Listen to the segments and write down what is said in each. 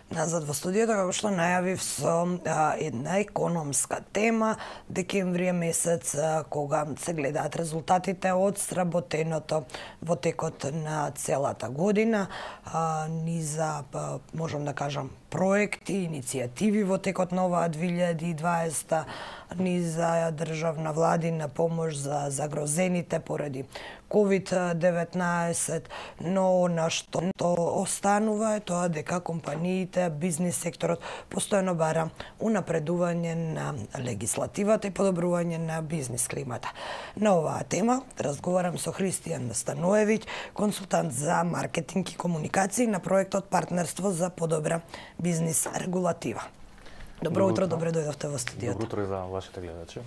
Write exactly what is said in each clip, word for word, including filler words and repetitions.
Назад во студиото, како што најавив со а, една економска тема, декември е месец а, кога се гледаат резултатите од сработеното во текот на целата година, а, ни за, а, можам да кажам, проекти, иницијативи во текот на оваа две илјади и дваесета, ни за државна владина помош за загрозените поради ковид деветнаесет, но на што останува е тоа дека компаниите, бизнис секторот постојано бара унапредување на легислативата и подобрување на бизнис климата. На оваа тема разговарам со Христијан Станоевиќ, консултант за маркетинг и комуникации на проектот Партнерство за подобра бизнис регулатива. Добро утро, добре дојдовте во студиото. Добро утро и за вашите гледачи.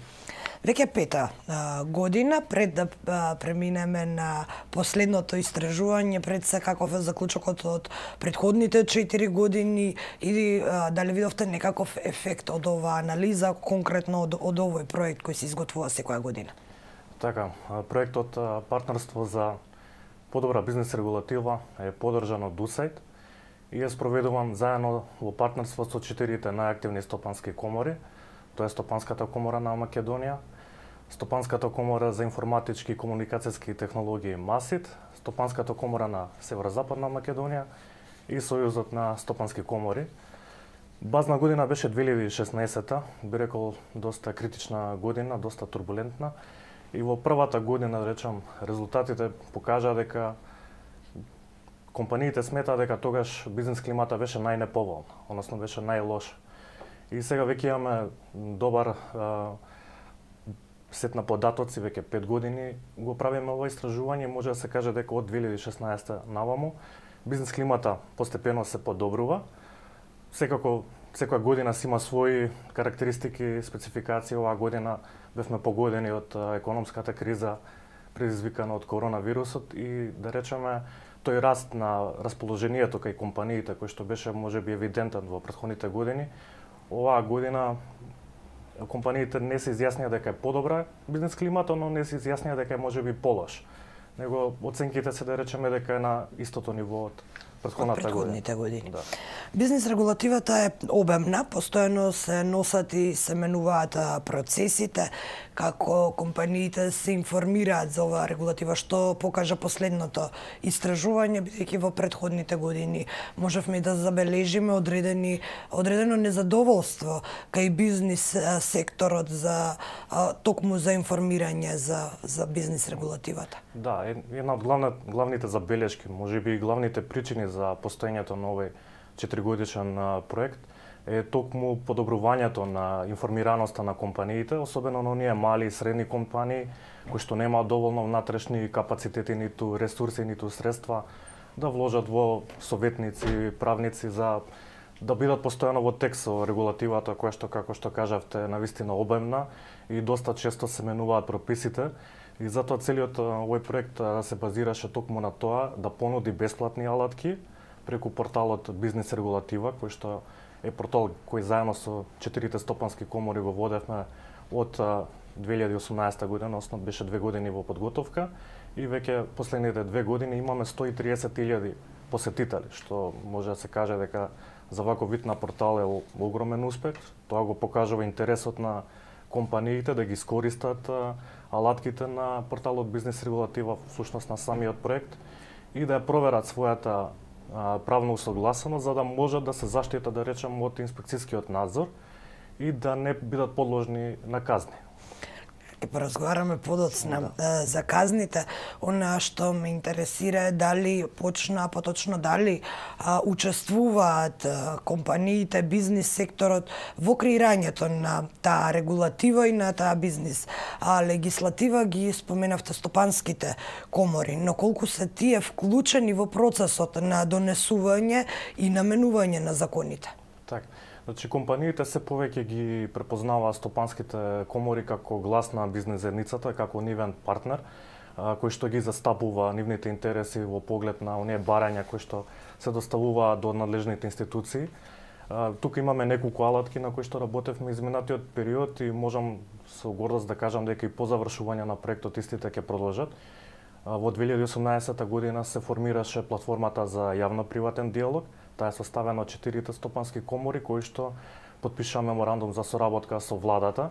Веќе пета а, година пред да а, преминеме на последното истражување, пред се каков е заклучокот од претходните четири години, или а, дали видовте некаков ефект од оваа анализа, конкретно од, од овој проект кој се изготвува секоја година? Така, проектот Партнерство за подобра бизнис регулатива е подржан од ДУСАИД и е спроведуван заедно во партнерство со четирите најактивни стопански комори. Тоа е Стопанската комора на Македонија, Стопанската комора за информатички и комуникацијски технологии МАСИТ, Стопанската комора на Северозападна Македонија и Сојузот на стопански комори. Базна година беше две илјади и шеснаесета, би рекол доста критична година, доста турбулентна. И во првата година, да речам, резултатите покажаа дека компаниите сметаа дека тогаш бизнис климата беше најнеповолна, односно беше најлоша. И сега веќе имаме добар а, сет на податоци, веќе пет години го правиме ова истражување, може да се каже дека од две илјади и шеснаесета наваму бизнис климата постепено се подобрува. Секако секоја година си има своји карактеристики, спецификации. Оваа година бевме погодени од економската криза предизвикана од коронавирусот и да речеме тој раст на расположението кај компаниите кој што беше можеби евидентен во претходните години, оваа година компаниите не се изјаснија дека е подобра бизнес климата, но не се изјаснија дека е можеби полош. Него оценките се да речеме дека е на истото ниво од претходната предходните години. Да. Бизнис регулативата е обемна, постојано се носат и се менуваат процесите, како компаниите се информираат за оваа регулатива, што покажа последното истражување, бидејќи во претходните години можевме да забележиме одредени одредено незадоволство кај бизнис секторот за токму за информирање за за бизнис регулативата. Да, една од главна, главните забелешки, можеби и главните причини за постоењето на овој четиригодишен проект е токму подобрувањето на информираноста на компаниите, особено на оние мали и средни компании кои што немаат доволно внатрешни капацитети, ниту ресурси, ниту средства да вложат во советници, правници за да бидат постојано во текст со регулативата која што, како што кажавте, навистина обемна и доста често се менуваат прописите. И затоа целиот овој проект се базираше токму на тоа да понуди бесплатни алатки преку порталот Бизнис регулатива, кој што е портал кој заедно со четирите стопански комори го водевме од две илјади и осумнаесета година, односно беше две години во подготовка и веќе последните две години имаме сто и триесет илјади посетители, што може да се каже дека за ваков вид на портал е огромен успех. Тоа го покажува интересот на компаниите да ги искористат алатките на порталот Бизнис регулатива, всушност на самиот проект, и да ја проверат својата правно усогласеност, за да можат да се заштитат, да речем, од инспекцијскиот надзор и да не бидат подложни на казни. Ке поразговараме подоцна да. за казните. Она што ме интересира е дали почна, поточно дали а, учествуваат а, компаниите, бизнис секторот во креирањето на таа регулатива и на таа бизнис а, легислатива. Ги споменавте стопанските комори, но колку се тие вклучени во процесот на донесување и наменување на законите? Так. Значи, компаниите се повеќе ги препознаваат стопанските комори како глас на бизнес заедницата, како нивен партнер, кој што ги застапува нивните интереси во поглед на оние барања кои што се доставуваат до надлежните институции. Тука имаме неколку алатки на кои што работевме изминатиот период и можам со гордост да кажам дека и по завршување на проектот истите ќе продолжат. Во две илјади и осумнаесета година се формираше платформата за јавно-приватен диалог. Таа е составена од четирите стопански комори кои што потпиша меморандум за соработка со владата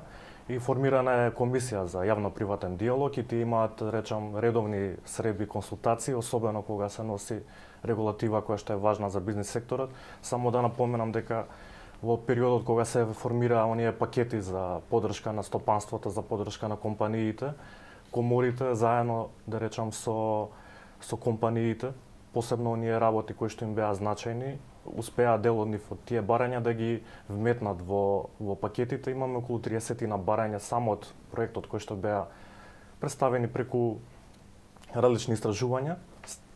и формирана е комисија за јавно-приватен диалог и тие имаат, речам, редовни средби консултации, особено кога се носи регулатива која што е важна за бизнис секторот. Само да напоменам дека во периодот кога се формираа оние пакети за поддршка на стопанството, за поддршка на компаниите, коморите заедно, да речам, со со компаниите, посебно оние работи кои што им беа значајни, успеа дел од нив од тие барања да ги вметнат во во пакетите. Имаме околу триесет на барања само од проектот кои што беа представени преку различни истражувања.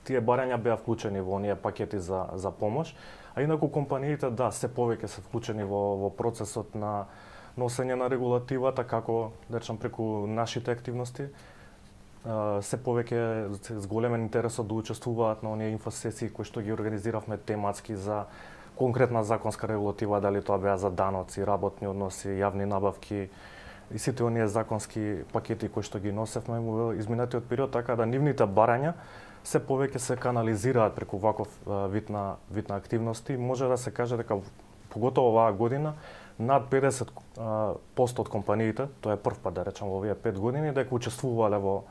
Тие барања беа вклучени во оние пакети за за помош, а инаку компаниите да се повеќе се вклучени во во процесот на носење на регулативата, како да речам преку нашите активности. Се повеќе с големен интересот да учествуваат на оние инфосесии кои што ги организиравме тематски за конкретна законска регулатива, дали тоа беа за даноци, работни односи, јавни набавки и сите оние законски пакети кои што ги носевме во изминатиот период, така да нивните барања се повеќе се канализираат преку ваков вид на вид на активности. Може да се каже дека поготово оваа година над педесет поsto од компаниите, тоа е прв пат да речам во овие пет години, дека учествувале во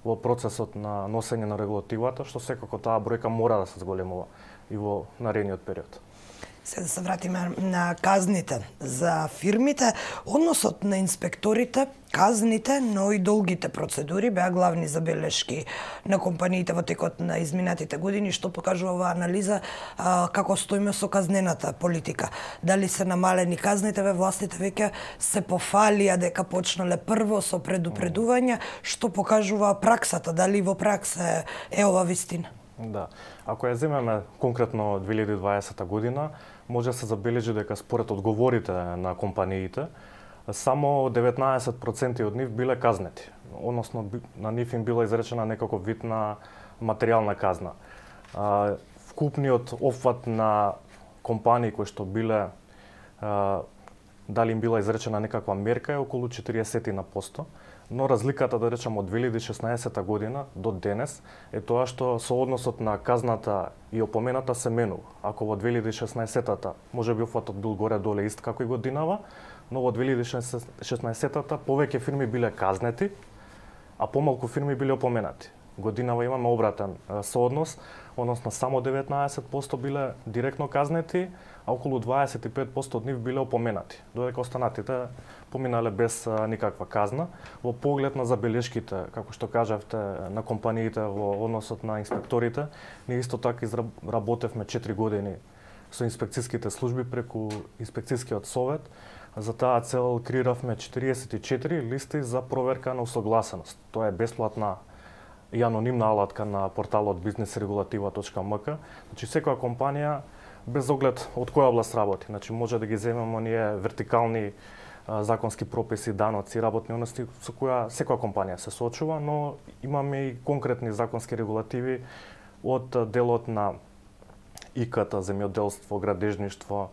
во процесот на носење на регулативата, што секако таа бројка мора да се зголемува и во наредниот период. Се да се вратиме на казните за фирмите, односот на инспекторите, казните, но и долгите процедури беа главни забелешки на компаниите во текот на изминатите години, што покажува оваа анализа а, како стоиме со казнената политика. Дали се намалени казните, ве властите веќе се пофалија дека почнале прво со предупредување, што покажува праксата, дали во пракса е ова вистина? Да. Ако ја земеме конкретно две илјади и дваесета година, може да се забележи дека според одговорите на компаниите, само деветнаесет проценти од нив биле казнети, односно на нив им била изречена некаков вид на материјална казна. Вкупниот опфат на компании кои што биле дали им била изречена некаква мерка е околу четириесет на посто, но разликата, да речам, од две илјади и шеснаесета година до денес е тоа што соодносот на казната и опомената се менува. Ако во две илјади и шеснаесетата можеби опфатот бил горе-доле ист како и годинава, но во две илјади и шеснаесетата повеќе фирми биле казнети, а помалку фирми биле опоменати. Годинава имаме обратен сооднос, односно само деветнаесет посто биле директно казнети, а околу дваесет и пет посто од нив биле опоменати, додека останатите поминале без а, никаква казна. Во поглед на забелешките, како што кажавте, на компаниите во односот на инспекторите, ние исто така изработевме четири години со инспекцијските служби преку инспекцијскиот совет. За таа цел креиравме четириесет и четири листи за проверка на усогласеност. Тоа е бесплатна и анонимна алатка на порталот бизнес регулатива точка ем ка. Значи секоја компанија без оглед од која област работи, значи може да ги земеме оние вертикални а, законски прописи, даноци, работни односи со која секоја компанија се соочува, но имаме и конкретни законски регулативи од делот на и ка те, земјоделство, градежништво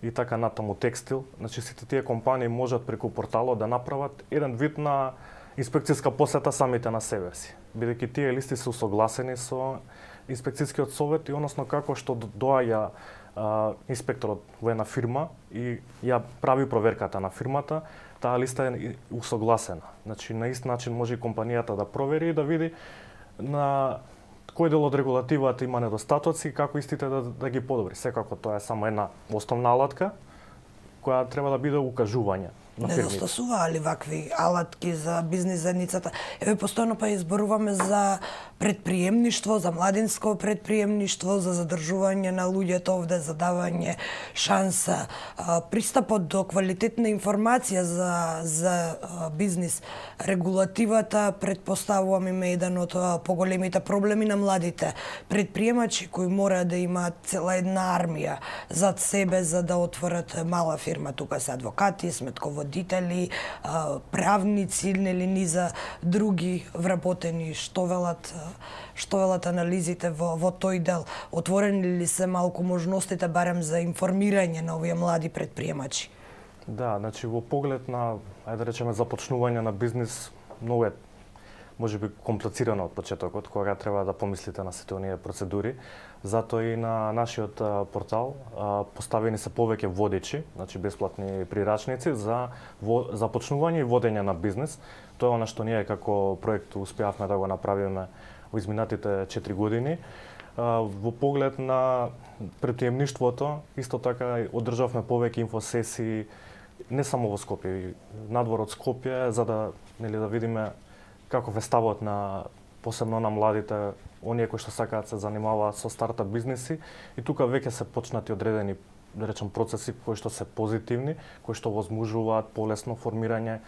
и така натаму текстил. Значи сите тие компании можат преку порталот да направат еден вид на инспекцијска посета самите на себе си, бидејќи тие листи се усогласени со инспекцијскиот совет и односно како што доаѓа а, инспекторот во една фирма и ја прави проверката на фирмата, таа листа е усогласена. Значи на ист начин може и компанијата да провери и да види на кој дел од регулативата има недостатоци и како истите да, да ги подобри. Секако тоа е само една основна алатка која треба да биде укажување на фирмите. Недостасуваа ли вакви алатки за бизнис заедницата? Еве постојано па изборуваме за предприемништво, за младинско предприемништво, за задржување на луѓето овде, за давање шанса, пристапот до квалитетна информација за за бизнис регулативата, предпоставувам има еден од поголемите проблеми на младите предприемачи кои мора да имаат цела една армија зад себе за да отворат мала фирма. Тука се адвокати, сметководители, правници или низа други вработени. Што велат што велат анализите во во тој дел? Отворени ли се малку можностите барем за информирање на овие млади предприемачи? Да, значи во поглед на, ајде да речеме, започнување на бизнис, многу е можеби комплицирано од почетокот, кога треба да помислите на сите оние процедури. Затоа и на нашиот портал поставени се повеќе водичи, значи бесплатни прирачници за започнување и водење на бизнес. Тоа е она што ние како проект успеавме да го направиме во изминатите четири години. Во поглед на предприемништвото, исто така одржавме повеќе инфосесии не само во Скопје, надвор од Скопје, за да, нели, да видиме каков е ставот на посебно на младите, оние кои што сакаат се занимаваат со стартап бизнеси, и тука веќе се почнати одредени, да речем, процеси кои што се позитивни, кои што возможуваат полесно формирање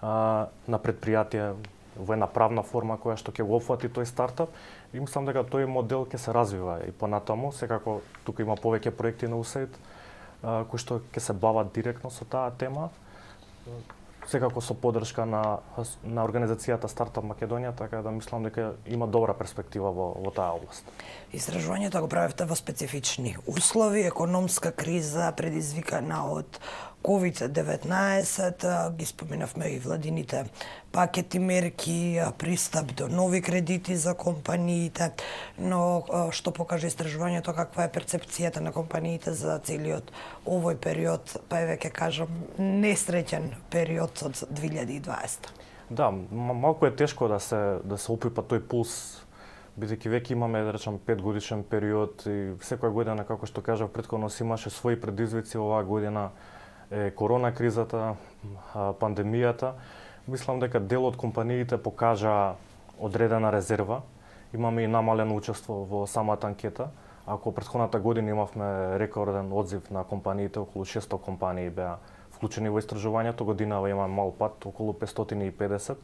а, на предпријатие во една правна форма која што ќе го опфати тој стартап. И мислам дека тој модел ќе се развива и понатаму, секако тука има повеќе проекти на УСАИД кои што ќе се бават директно со таа тема, секако со поддршка на на организацијата Стартап Македонија, така да мислам дека има добра перспектива во во таа област. Истражувањето го правевте во специфични услови, економска криза предизвикана од ковид деветнаесет, ги споменавме и владините пакети мерки, пристап до нови кредити за компаниите, но што покажа истражувањето, каква е перцепцијата на компаниите за целиот овој период, па е веќе кажам несреќен период од две илјади и дваесета. Да, малку е тешко да се да се опипа тој пулс, бидејќи веќе имаме, да речем, пет годишен период и секоја година, како што кажав претходно, си имаше своји предизвици. Оваа година е корона кризата, пандемијата. Мислам дека дел од компаниите покажа одредена резерва. Имаме и намалено учество во самата анкета. Ако претходната година имавме рекорден одзив на компаниите, околу шесто компании беа вклучени во истражувањето, годинава има мал пат, околу петстотини и педесет.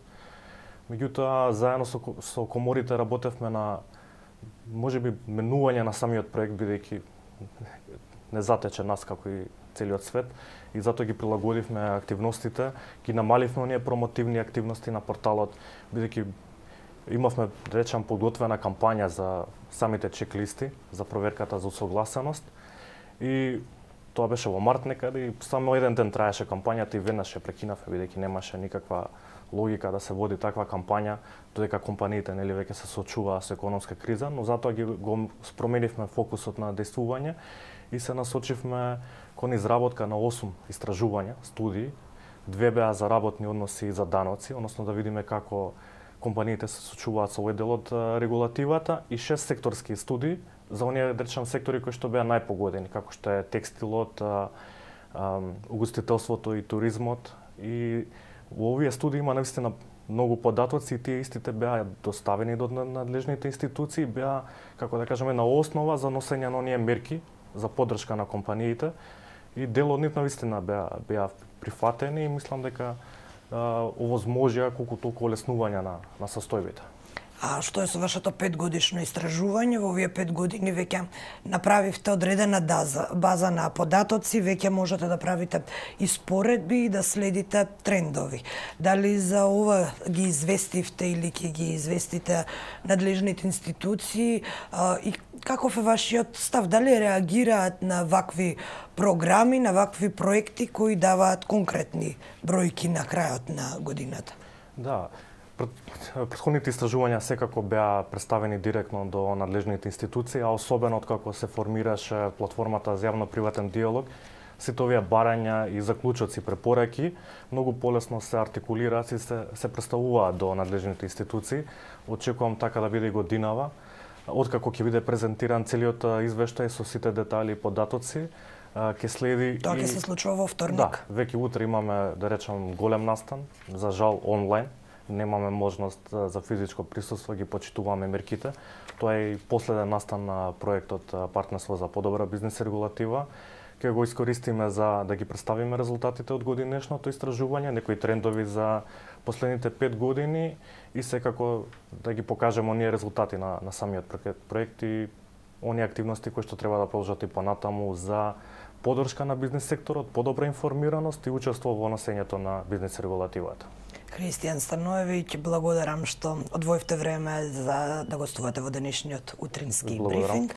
Меѓутоа, заедно со, со коморите работевме на, можеби, менување на самиот проект, бидејќи не затече нас како и целиот свет, и затоа ги прилагодивме активностите, ги намаливме оние промотивни активности на порталот, бидејќи имавме, да речем, подготвена кампања за самите чек-листи, за проверката за усогласеност, и тоа беше во март некаде, и само еден ден траеше кампањата и веднаш ја прекинавме, бидејќи немаше никаква логика да се води таква кампања, додека компаниите, нели, веќе се соочуваа со економска криза, но затоа ги го променивме фокусот на действување и се насочивме кон изработка на осум истражувања, студии. Две беа за работни односи и за даноци, односно да видиме како компаниите се соочуваат со овој дел од регулативата, и шест секторски студии за оние, да речем, сектори кои што беа најпогодени, како што е текстилот, угостителството и туризмот. И во овие студии има навистина многу податоци и тие истите беа доставени до надлежните институции, беа, како да кажеме, на основа за носење на оние мерки за поддршка на компаниите, и дел од нив навистина беа беа прифатени, и мислам дека овозможија колку толку олеснување на на состојбите. А што е со вашето петгодишно истражување? Во овие пет години веќе направивте одредена база, база на податоци, веќе можете да правите испоредби и да следите трендови. Дали за ова ги известивте или ќе ги известите надлежните институции, а, и каков е вашиот став? Дали реагираат на вакви програми, на вакви проекти кои даваат конкретни бројки на крајот на годината? Да. Претходните истражувања секако беа представени директно до надлежните институции, а особено откако се формираше платформата за јавно-приватен диалог, сите овие барања и заклучоци, препораки многу полесно се артикулираат и се, се представуваат до надлежните институции. Очекувам така да биде и годинава, откако ќе биде презентиран целиот извештај со сите детали и податоци. Ќе следи. Тоа ќе и... се случува во вторник. Да, веќе утре имаме, да речем, голем настан, за жал онлайн. Немаме можност за физичко присуство, ги почитуваме мерките. Тоа е и последен настан на проектот Партнерство за подобра бизнес регулатива. Ќе го искористиме за да ги представиме резултатите од годинешното истражување, некои трендови за последните пет години, и секако да ги покажеме оние резултати на, на самиот проект и оние активности кои што треба да продолжат и понатаму за поддршка на бизнес секторот, подобра информираност и учество во носењето на бизнес регулативата. Христијан Станоевиќ, благодарам што одвоивте време за да гостувате во денешниот утрински брифинг.